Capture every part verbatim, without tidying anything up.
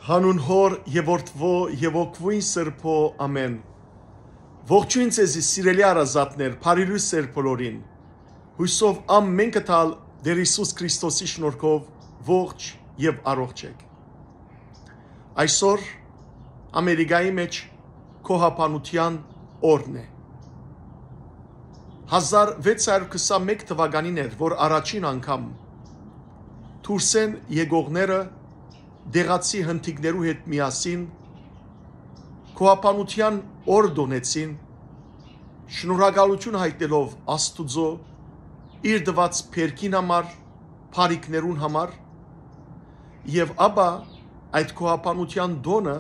Հանուն Հօր եւ Որդւոյ եւ Հոգւոյն Սրբոյ, ամէն։ Ողջոյն ձեզի, սիրելի հարազատներ, բարի լոյս ձեր բոլորին։ Յուսով ամէնքը թալ Տէր Յիսուս Քրիստոսի շնորհքով ողջ եւ առողջ էք։ Այսօր Ամերիկայի մէջ գոհաբանութեան օրն է։ Հազար վեց հարյուր քսանմէկ թուականին էր, որ առաջին անգամ դուրսէն եկողները դեղացի հնդիկներու հետ միասին գոհաբանութեան օր տօնեցին, շնորհակալութիւն յայտնելով Աստուծոյ իր տուած բերքին համար, բարիքներուն համար, եւ ապա այդ գոհաբանութեան տօնը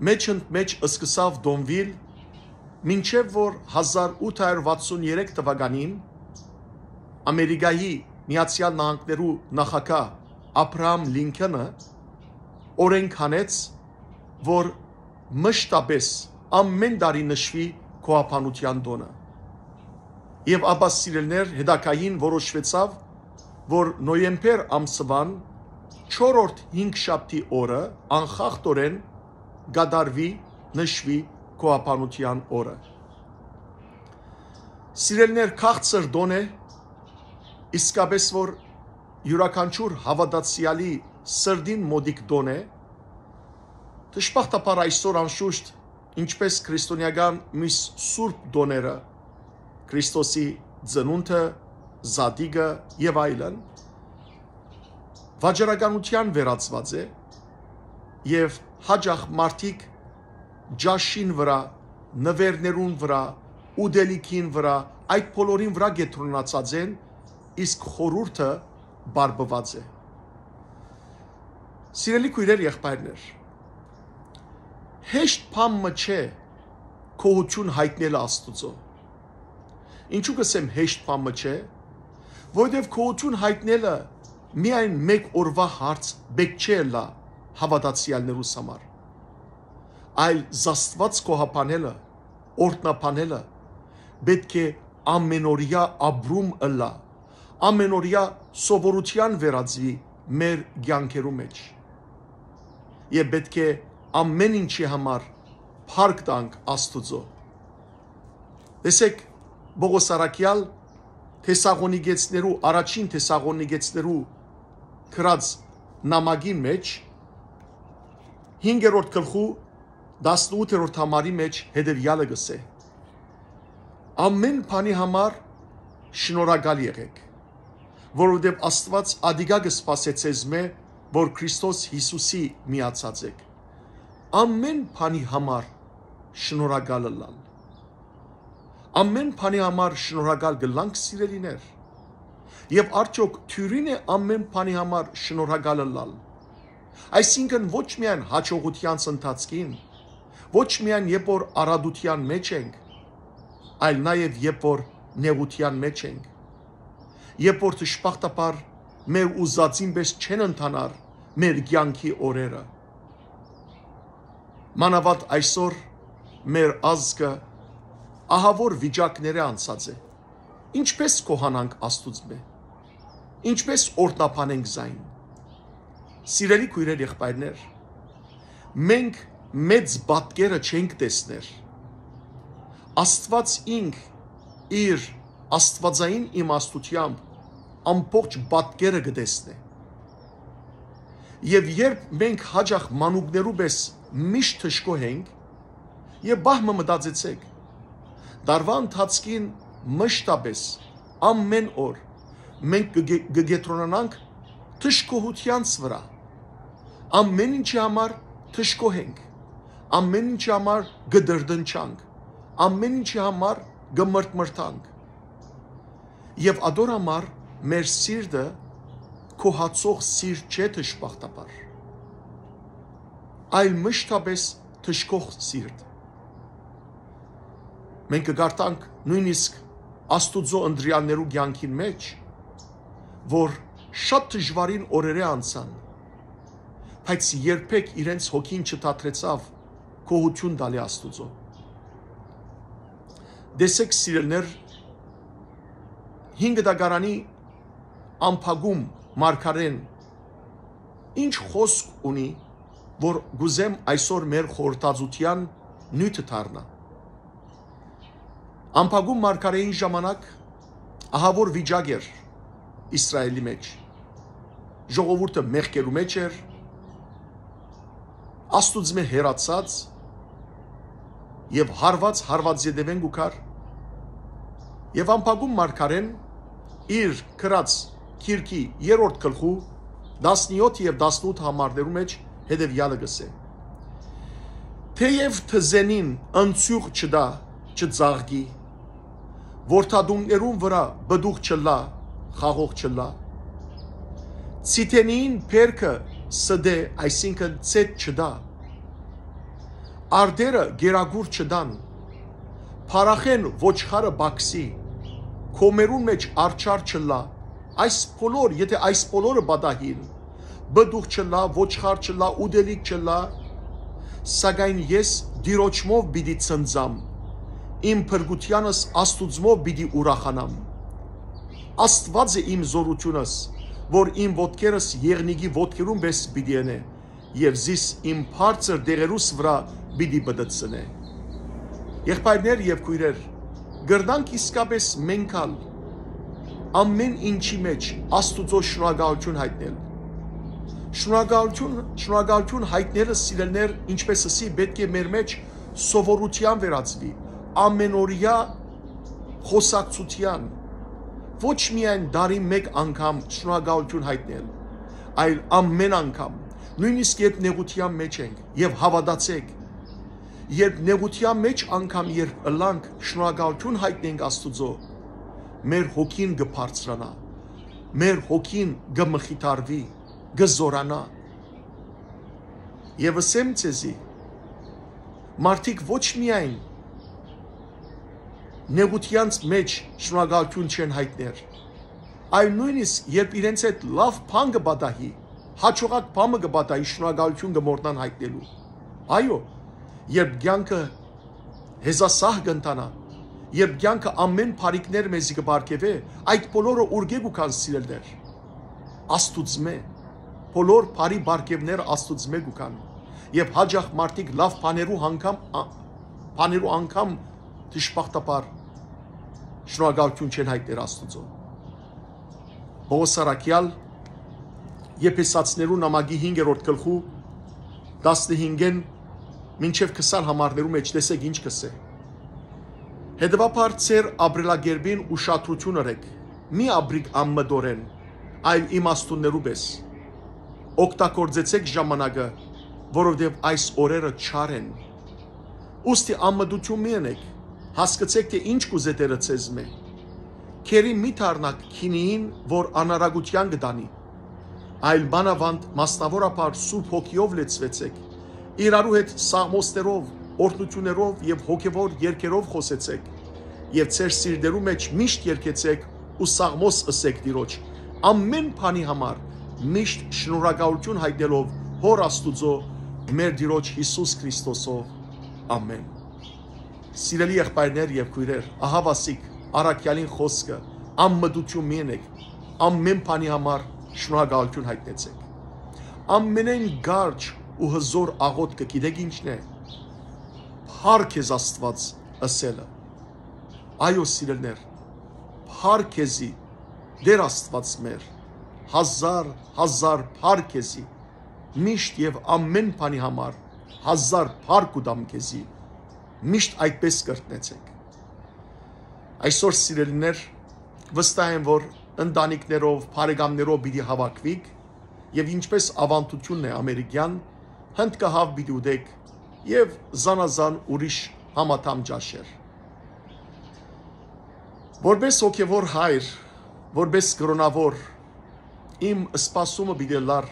մէջ ընդ մէջ սկսաւ տօնուիլ, մինչեւ որ հազար ութ հարյուր վաթսուն երեք թուականին Ամերիկայի Միացեալ Նահանգներու նախագահ Աբրահամ Լինքոնը օրէնք հանեց, որ մշտապէս ամէն տարի նշուի գոհաբանութեան տօնը։ Եւ ապա, սիրելիներ, հետագային որոշուեցաւ, որ նոյեմբեր ամսուան չորրորդ հինգշաբթի օրը անխախտօրէն կատարուի, նշուի գոհաբանութեան օրը։ Սիրելիներ, քաղցր տօն է, իսկապէս որ իւրաքանչիւր հաւատացեալի սրտին մօտիկ տօն է։ Դժբախտաբար այսօր, անշուշտ, ինչպէս քրիստոնեական միս սուրբ տօները, Քրիստոսի ծնունդը, զատիկը եւ այլն, վաճառականութեան վերածուած է եւ յաճախ մարդիկ ճաշին վրայ, նուէրներուն վրայ, ուտելիքին վրայ, այդ բոլորին վրայ կեդրոնացած են, իսկ խորհուրդը պարպուած է։ Սիրելի քոյրեր, եղբայրներ, հեշտ բան մը չէ գոհութիւն յայտնելը Աստուծոյ։ Ինչու կ'ըսեմ հեշտ բան մը չէ, որովհետեւ գոհութիւն յայտնելը միայն մէկ օրուայ հարց պէտք չէ ըլլայ հաւատացեալներուս համար, այլ զաստուած գոհաբանելը, օրհնաբանելը պէտք է ամէնօրեայ ապրում ըլլայ, ամէնօրեայ սովորութեան վերածուի մեր կեանքերու մէջ։ Եւ պէտք է ամէն ինչի համար փառք տանք Աստուծոյ։ Տեսեք, Պողոս առաքեալ Թեսաղոնիկեցիներու, առաջին Թեսաղոնիկեցիներու գրած նամակին մէջ, հինգերորդ գլխու տասնութերորդ համարի մէջ հետեւեալը կ'ըսէ. «Ամէն բանի համար շնորհակալ եղէք, որովհետեւ Աստուած ատիկա կը սպասէ ձեզմէ, որ Քրիստոս Յիսուսի միացած էք»։ Ամէն բանի համար շնորհակալ ըլլալ։ Ամէն բանի համար շնորհակալ կ'ըլլանք, սիրելիներ։ Եւ արդեօք դիւրի՞ն է ամէն բանի համար շնորհակալ ըլլալ։ Այսինքն, ոչ միայն յաջողութեանց ընթացքին, ոչ միայն երբ որ առատութեան մէջ ենք, այլ նաեւ երբ որ նեղութեան մէջ ենք, երբ որ դժբախտաբար մեր ուզածին պէս չեն ընթանար մեր կեանքի օրերը։ Մանաւանդ այսօր մեր ազգը ահաւոր վիճակներէ անցած է։ Ինչպէս գոհանանք Աստուծմէ, ինչպէս օրհնաբանենք զայն։ Սիրելի քոյրեր, եղբայրներ, մենք մեծ պատկերը չենք տեսներ։ Աստուած ինք իր աստուածային իմաստութեամբ ամբողջ պատկերը կը տեսնէ։ Եւ երբ մենք յաճախ մանուկներու պէս միշտ դժգոհ ենք, եւ պահ մը մտածեցեք, տարուայ ընթացքին մշտապէս, ամէն օր, մենք կը գե-, կը կեդրոնանանք դժգոհութեանց վրայ։ Ամէն ինչի համար դժգոհ ենք, ամէն ինչի համար կը տրտնջանք, ամէն ինչի համար կը մրթմրթանք։ Եւ ատոր համար մեր սիրտը գոհացող սիրտ չէ, դժբախտաբար, այլ մշտապէս դժգոհ սիրտ։ Մենք կը կարդանք նոյնիսկ Աստուծոյ ընտրեալներու կեանքին մէջ, որ շատ դժուարին օրերէ անցան, բայց երբեք իրենց հոգին չդադրեցաւ գոհութիւն տալի Աստուծոյ։ Տեսեք, սիրելիներ, հինգ դագարանի ամփակում մարգարէն Ինչ խօսք ունի, որ կ'ուզեմ այսօր մեր խորհրդածութեան նիւթը դառնայ։ Ամպագում մարգարէին ժամանակ ահաւոր վիճակ էր Իսրայէլի մէջ։ Ժողովուրդը մեղքերու մէջ էր, Աստուծմէ հեռացած եւ հարուած, հարուած ետեւէն կու գար։ Եւ ամպագում մարգարէն իր գրած գիրքի երրորդ գլխու տասնեօթ եւ տասնութ համարներու մէջ հետեւեալը կ'ըսէ. «Թէեւ թզենին ընցիւղ չտայ, չծաղկի, որդատունկներուն վրայ պտուղ չըլլայ, խաղող չըլլայ, ցիթենիին բերքը ստէ, այսինքն՝ ցետ չտայ, արտերը գերագուր չտան, փառախէն ոչխարը պակսի, կոմերուն մէջ արջառ չըլլայ։ Այս բոլոր, եթէ այս բոլորը պատահին, պտուղ չըլլայ, ոչխար չըլլայ, ուտելիք չըլլայ, սակայն ես Տիրոջմով պիտի ցնծամ, իմ փրկութեանս Աստուծմով պիտի ուրախանամ։ Աստուած է իմ զօրութիւնս, որ իմ ոտքերս եղնիկի ոտքերուն պէս պիտի ընէ եւ զիս իմ բարձր տեղերուս վրայ պիտի պտտցնէ»։ Եղբայրներ եւ քոյրեր, կրնանք իսկապէս մենք ալ ամէն ինչի մէջ Աստուծոյ շնորհակալութիւն յայտնել։ Շնորհակալութիւն, շնորհակալութիւն յայտնելը, սիրելիներ, ինչպէս ըսի, պէտք է մեր մէջ սովորութեան վերածուի, ամէնօրեայ խօսակցութեան։ Ոչ միայն տարին մէկ անգամ շնորհակալութիւն յայտնել, այլ ամէն անգամ, նոյնիսկ երբ նեղութեան մէջ ենք, եւ հաւատացէք, երբ նեղութեան մէջ անգամ երբ ըլլանք, շնորհակալութիւն յայտնենք Աստուծոյ, մեր հոգին կը բարձրանայ, մեր հոգին կը մխիթարուի, կը զօրանայ։ Եւ ըսեմ ձեզի, մարդիկ ոչ միայն նեղութեանց մէջ շնորհակալութիւն չեն յայտներ, այլ նոյնիսկ երբ իրենց հետ լաւ բան կը պատահի, յաջողակ բան մը կը պատահի, շնորհակալութիւն կը մոռնան յայտնելու։ Այո, երբ կեանքը հեզասահ կ'ընթանայ, երբ կեանքը ամէն բարիքներ մեզի կը պարգեւէ, այդ բոլորը ուրկէ կու գան, սիրելիներ։ Աստուծմէ։ Բոլոր բարի պարգեւները Աստուծմէ կու գան։ Եւ յաճախ մարդիկ լաւ բաներու անգամ, ա-, բաներու անգամ դժբախտաբար շնորհակալութիւն չեն յայտներ Աստուծոյ։ Պողոս առաքեալ Եփեսացիներու նամակի հինգերորդ գլխու տասնհինգէն մինչեւ քսան համարներու մէջ տեսեք ինչ կ'ըսէ. «Հետեւաբար ձեր ապրելակերպին ուշադրութիւն ըրէք, մի ապրիք անմտորեն, այլ իմաստուններու պէս։ Օգտագործեցէք ժամանակը, որովհետեւ այս օրերը չար են։ Ուստի անմտութիւն մի ընէք, հասկցէք թէ ինչ կ'ուզէ Տէրը ձեզմէ։ Քերի մի դառնաք գինիին, որ անարագութեան կը տանի, այլ մանաւանդ մասնաւորաբար Սուրբ Հոգիով լեցուեցէք, իրարու հետ սաղմոսներով, օրհնութիւններով եւ հոգեւոր երգերով խօսեցէք, եւ ձեր սիրտերու մէջ միշտ երգեցէք ու սաղմոս ըսէք Տիրոջ, ամէն բանի համար միշտ շնորհակալութիւն յայտնելով Հօր Աստուծոյ, մեր Տիրոջ Յիսուս Քրիստոսով։ Ամէն»։ Սիրելի եղբայրներ եւ քոյրեր, ահա վասիկ առաքեալին խօսքը. «Անմտութիւն մի ընէք, ամէն բանի համար շնորհակալութիւն յայտնեցէք»։ Ամենէն կարճ ու հզօր աղօթքը գիտեք ի՞նչն է։ «Փառք քեզ, Աստուած» ըսելը։ Այո, սիրելիներ, փառք քեզի, Տէր Աստուած մեր, հազար, հազար փառք քեզի, միշտ եւ ամէն բանի համար հազար փառք կու տամ քեզի, միշտ այդպես կրթնեցեք։ Այսօր, սիրելիներ, վստահ եմ, որ ընտանիքներով, բարեկամներով պիտի հաւաքուիք եւ ինչպես աւանդութիւնն է ամերիկեան, հնդկահաւ պիտի ուտեք եւ զանազան ուրիշ համադամ ճաշեր։ Որպես հոգեվոր հայր, որպես կրոնաւոր, իմ սպասումը պիտի լար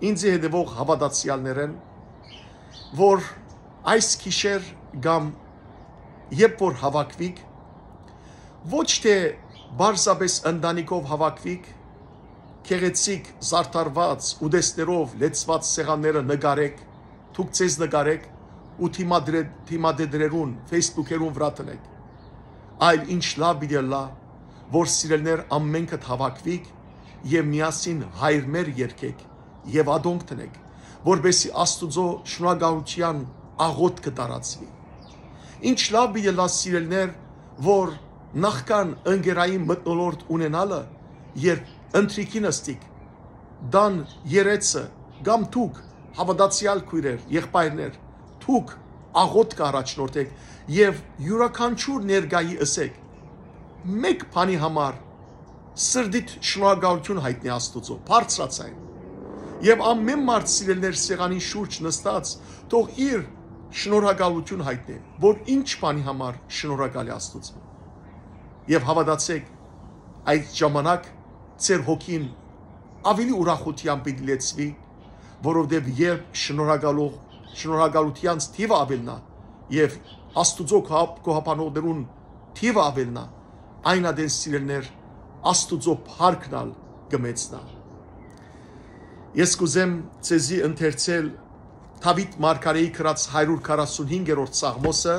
ինձի հետևող հաւատացեալներէն, որ այս գիշեր կամ երբ որ հաւաքուիք, ոչ թէ պարզապէս ընտանիքով հաւաքուիք, գեղեցիկ, զարդարուած, ուտեստներով լեցուած սեղանները նկարեք, դուք ձեզ նկարեք ու դիմադրե-, դիմադեդրերուն, Facebook-երուն վրայ դնեք, այլ ինչ լաւ պիտի ըլլայ, որ սիրելիներ ամենքդ հաւաքուիք եւ միասին Հայր մեր երգէք եւ ատոնք դնէք, որպեսզի Աստուծոյ շնորհակալութեան աղօթքը տարածուի։ Ինչ լաւ պիտի ըլլայ, սիրելիներ, որ նախքան ընկերային մթնոլորտ ունենալը, երբ ընթրիքին ըստիկ տան երեցը կամ դուք, հաւատացեալ քոյրեր, եղբայրներ, դուք աղօթքը առաջնորդէք եւ իւրաքանչիւր ներկայի ըսէք. «Մէկ բանի համար սրտիդ շնորհակալութիւն յայտնէ Աստուծոյ, բարձրաձայն։ Եւ ամէն մարդ, սիրելիներ, սեղանին շուրջ նստած, թող իր շնորհակալութիւն յայտնէ, որ ինչ բանի համար շնորհակալ է Աստուծոյ»։ Եւ հաւատացէք, այդ ժամանակ ձեր հոգին աւելի ուրախութեամբ պիտի լեցուի, որովհետեւ երբ շնորհակալող, շնորհակալութեանց թիւը աւելնայ եւ Աստուծոյ գոհապ-, գոհաբանողներուն թիւը աւելնայ, այն ատեն, սիրելիներ, Աստուծոյ փառքն ալ կը մեծնայ։ Ես կ'ուզեմ ձեզի ընթերցել Դաւիթ մարգարէի գրած հարիւր քառասունհինգերորդ սաղմոսը։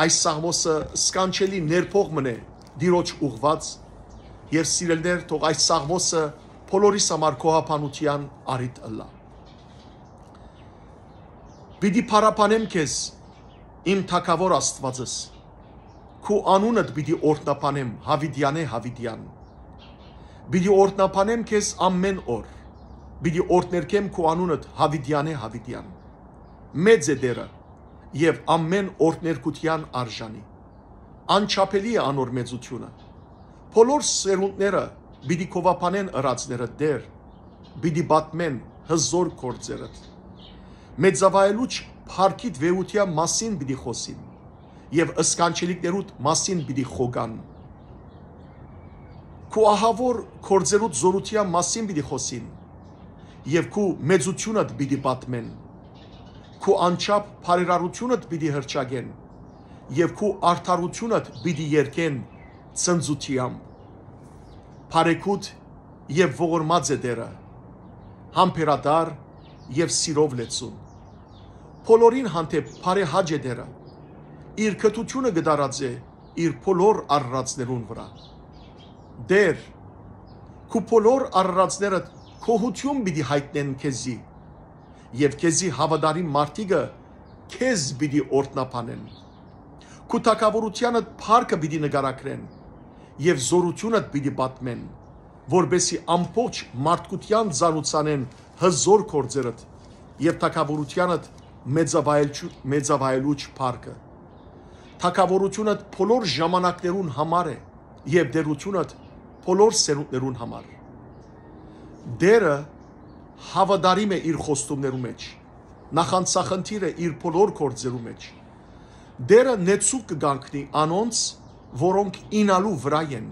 Այս սաղմոսը սքանչելի ներփոխ մըն է Տիրոջ ուղղուած, եւ, սիրելիներ, թող այս սաղմոսը բոլորիս համար գոհաբանութեան առիթ ըլլայ։ «Պիտի փառաբանեմ քեզ, իմ թագաւոր Աստուածս, քու անունդ պիտի օրհնաբանեմ յաւիտեանէ յաւիտեան։ Պիտի օրհնաբանեմ քեզ ամէն օր, պիտի օրհներգեմ քու անունդ յաւիտեանէ յաւիտեան։ Մեծ է Տէրը եւ ամէն օրհներգութեան արժանի։ Անչափելի է անոր մեծութիւնը։ Բոլոր սերունդները պիտի գովաբանեն ըրածներդ, Տէր, պիտի պատմեն հզօր գործերդ։ Մեծավայելուչ փառքիդ վեհութեան մասին պիտի խօսին եւ սքանչելիքներուդ մասին պիտի խոկան։ Քու ահաւոր գործերուդ զօրութեան մասին պիտի խօսին եւ քու մեծութիւնդ պիտի պատմեն։ Քու անչափ բարերարութիւնդ պիտի հռչակեն եւ քու արդարութիւնդ պիտի երգեն ցնծութեամբ։ Բարեգութ եւ ողորմած է Տէրը, համբերատար եւ սիրով լեցուն։ Բոլորին հանդէպ բարեհաճ է Տէրը, իր գթութիւնը կը տարածէ իր բոլոր արարածներուն վրայ։ Տէր, քու բոլոր արարածներդ գոհութիւն պիտի յայտնեն քեզի, եւ քեզի հաւատարիմ մարդիկը քեզ պիտի օրհնաբանեն։ Քու թագաւորութեանդ փառքը պիտի նկարագրեն եւ զօրութիւնդ պիտի պատմեն, որպեսզի ամբողջ մարդկութեան ծանուցանեն հզօր գործերդ եւ թագաւորութեանդ մեծավայելչու-, մեծավայելուչ փառքը։ Թագաւորութիւնդ բոլոր ժամանակներուն համար է եւ տէրութիւնդ բոլոր սերունդներուն համար։ Տէրը հաւատարիմ է իր խոստումներու մէջ, նախանձախնդիր է իր բոլոր գործերու մէջ։ Տէրը նեցուկ կը կանգնի անոնց, որոնք ինալու վրայ են,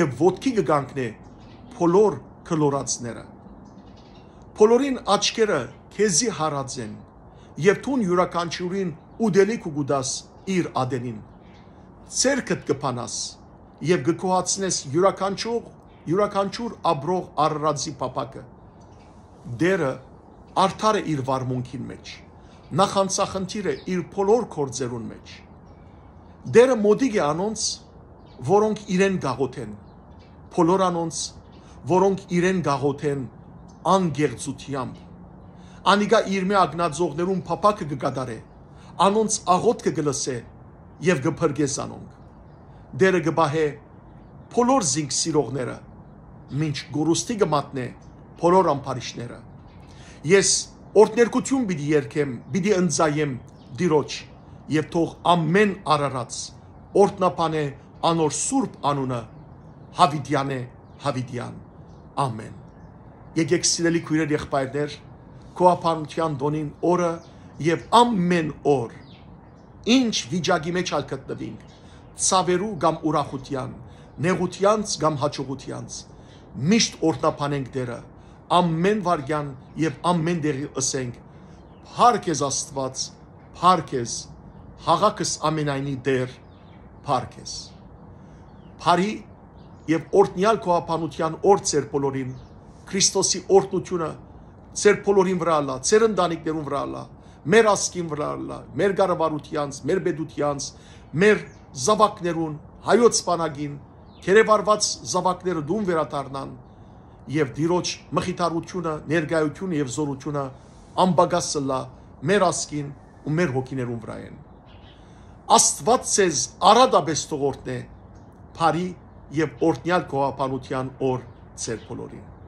եւ ոտքի կը կանգնէ բոլոր գլորածները։ Բոլորին աչքերը քեզի յարած են, եւ դուն իւրաքանչիւրին ուտելիք ու կու տաս իր ատենին։ Ձեռքդ կը բանաս եւ կը գոհացնես իւրաքանչիւր, իւրաքանչիւր ապրող արարածի փափաքը։ Տէրը արդար է իր վարմունքին մէջ, նախանձախնդիր է իր բոլոր գործերուն մէջ։ Տէրը մօտիկ է անոնց, որոնք իրեն կաղոթեն, բոլոր անոնց, որոնք իրեն կաղոթեն անգեղծութեամբ։ Անիկա իր մէ ակնածողներուն փափաքը կը կատարէ, անոնց աղօթքը կը լսէ եւ կը փրկէ զանոնք։ Տէրը կը պահէ բոլոր զինք սիրողները, մինչ կորուստի կը մատնէ բոլոր ամբարիշները։ Ես օրհներգութիւն պիտի երգեմ, պիտի ընծայեմ Տիրոջ, եւ թող ամէն արարած օրհնաբանէ անոր սուրբ անունը, յաւիտեանէ յաւիտեան։ Ամէն։ Եկեք, սիրելի քոյրեր, եղբայրներ, գոհաբանութեան տօնին օրը եւ ամէն օր, ինչ վիճակի մէջ ալ գտնուինք, ցաւերու կամ ուրախութեան, նեղութեանց կամ յաջողութեանց, միշտ օրհնաբանենք Տէրը, ամէն վայրկեան եւ ամէն տեղի ըսենք. «Փառք ես, Աստուած, փառք ես, յաղաքս ամենայնի Տէր, փառք ես»։ Բարի եւ օրհնեալ գոհաբանութեան օր ձեր բոլորին, Քրիստոսի օրհնութիւնը ձեր բոլորին վրայ ըլլայ, ձեր ընտանիքներուն վրայ ըլլայ, մեր ազգին վրայ ըլլայ, մեր կառավարութեանց, մեր պետութեանց, մեր զաւակներուն, հայոց բանակին, գերեվարուած զաւակները տուն վերադառնան, եւ Տիրոջ մխիթարութիւնը, ներկայութիւնը եւ զօրութիւնը անպակաս ըլլայ մեր ազգին ու մեր հոգիներուն վրայ են։ Աստուած ձեզ արատապէս թող օրհնէ, բարի եւ օրհնեալ գոհաբանութեան օր ձեր բոլորին։